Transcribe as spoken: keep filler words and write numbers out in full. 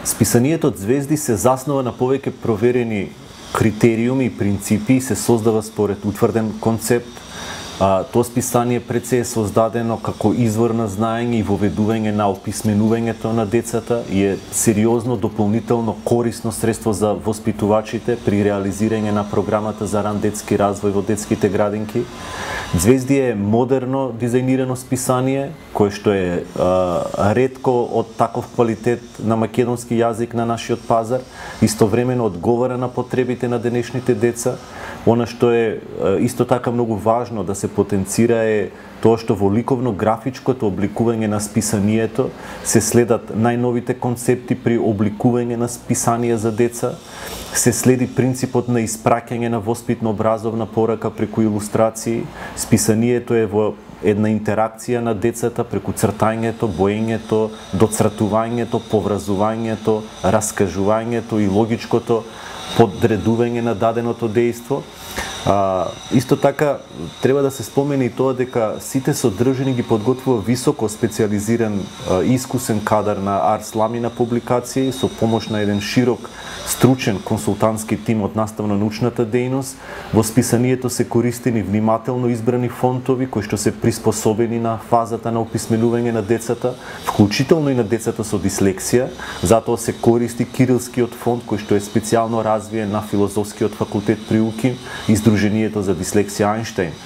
Списанието Звезди се заснова на повеќе проверени критериуми и принципи и се создава според утврден концепт. А, тоа списание пред се е создадено како извор на знаење и воведување на описменувањето на децата и е сериозно дополнително корисно средство за воспитувачите при реализирање на програмата за ран детски развој во детските градинки. Звезди е модерно дизајнирано списание, кое што е а, ретко од таков квалитет на македонски јазик на нашиот пазар, истовремено одговара на потребите на денешните деца. Она што е исто така многу важно да се потенцира е тоа што во ликовно-графичкото обликување на списанието се следат најновите концепти при обликување на списанија за деца, се следи принципот на испраќање на воспитно-образовна порака преку илустрации, списанието е во една интеракција на децата преку цртањето, боењето, доцртувањето, повразувањето, раскажувањето и логичкото подредување на даденото дејство. А, исто така треба да се спомени и тоа дека сите содржини ги подготвува високо специализиран а, искусен кадар на Арс Ламина публикации со помош на еден широк стручен консултантски тим од наставно-научната дејност. Во списанието се користени внимателно избрани фонтови кои што се приспособени на фазата на описменување на децата, вклучително и на децата со дислексија. Затоа се користи кирилскиот фонт кој што е специјално развиен на Филозофскиот факултет при УКИМ и Сдруженијето за дислексија Ајнштајн.